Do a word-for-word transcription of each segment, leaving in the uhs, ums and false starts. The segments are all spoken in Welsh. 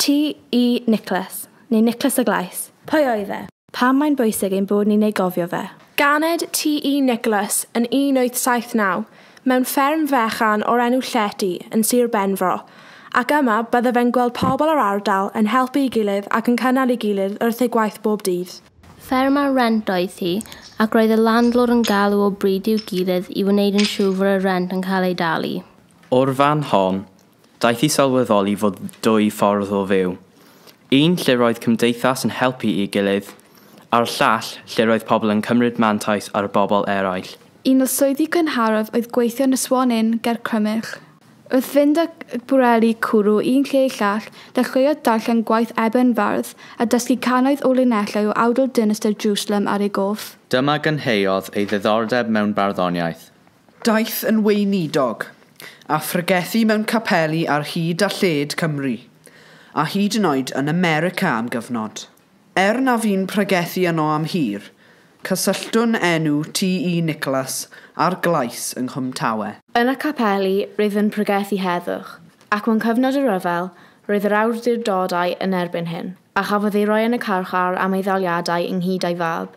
T E Nicholas, neu Nicholas y Glais. Pwy oedd e? Pam mae'n bwysig ein bod ni'n ei gofio fe? Ganed T E Nicholas yn un wyth saith naw mewn fferm fechan o'r enw Llety yn Sir Benfro, ac yma bydde fe'n gweld pobl o'r ardal yn helpu ei gilydd ac yn cynnal ei gilydd wrth ei gwaith bob dydd. Fferm ar rent oedd hi, ac roedd y landlord yn galw o bryd i'w gilydd i wneud yn siŵr fod y rent yn cael ei dalu. O'r fan hon, daeth i sylweddoli fod dwy ffordd o fyw. Un lle roedd cymdeithas yn helpu ei gilydd, a'r llall lle roedd pobl yn cymryd mantais ar y bobl eraill. Un o swyddi cynharaf oedd gweithio yn y Swan Inn ger Crymych. Wrth fynd â bwreli cwrw un lle i llall, dechreuodd darllen gwaith Eben Fardd a dysgu cannoedd o linellau o awdl dinistr Jerusalem ar ei goff. Dyma gynheuodd ei ddiddordeb mewn barddoniaeth. Daeth yn weinidog, a phregethu mewn capeli ar hyd a lled Cymru, a hyd yn oed yn America am gyfnod. Er na fu'n pregethu yno am hir, cysylltwn enw T E Nicholas a'r Glais yng Nghwm Tawe. Yn y capeli, roedd yn pregethu heddwch, ac mewn cyfnod y rhyfel, roedd yr awdurdodau yn erbyn hyn, a chafodd ei roi yn y carchar am ei ddaliadau ynghyd â'i fab.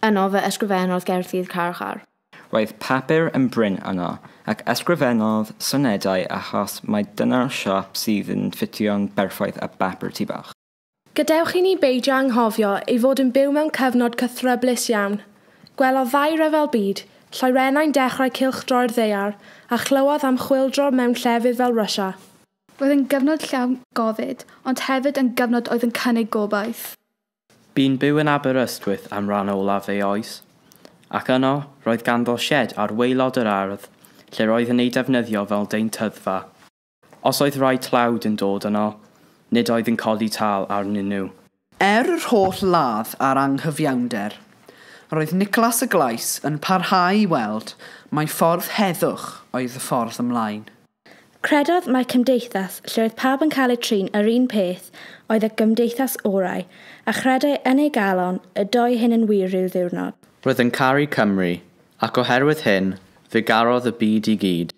Yno fe ysgrifennodd gerddi'r carchar. Roedd papur yn brin yno, ac ysgrifennodd sonedau achos mai dyna'r siâp sydd yn ffitio'n berffaith â bapur tŷ bach. Gadewch i ni beidio anghofio ei fod yn byw mewn cyfnod cythryblus iawn. Gwelodd ddau ryfel byd, lloerennau'n dechrau cylchdroi'r ddaear, a chlywodd am chwyldro mewn llefydd fel Russia. Roedd yn gyfnod llawn gofid, ond hefyd yn gyfnod oedd yn cynnig gobaith. Bu'n byw yn Aberystwyth am ran olaf ei oes, ac yno roedd ganddo sied ar waelod yr ardd, lle roedd yn ei defnyddio fel deintyddfa. Os oedd rhai tlawd yn dod yno, nid oedd yn codi tâl arnyn nhw. Er yr holl ladd a'r anghyfiawnder, roedd Nicholas y Glais yn parhau i weld mai ffordd heddwch oedd y ffordd ymlaen. Credodd mai cymdeithas lle oedd pawb yn cael eu trin yr un peth oedd y gymdeithas orau, a chredai yn ei galon y doi hyn yn wir rhyw ddiwrnod. Roedd yn caru Cymru, ac oherwydd hyn, fe garodd y byd i gyd.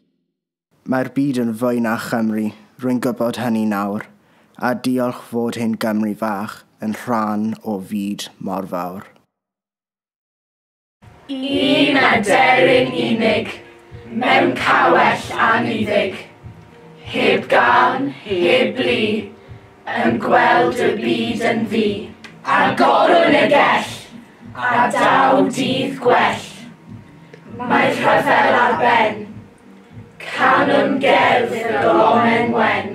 Mae'r byd yn fwy na Chymru, rwy'n gwybod hynny nawr, a diolch fod hyn Gymru fach yn rhan o fyd mor fawr. Un aderyn unig, mewn cawell anniddig, heb gân, heb blu, yn gweld y byd yn ddu. Agorwn y gell, a daw dydd gwell. Mae rhyfel ar ben, canwn gerdd y gomen wen.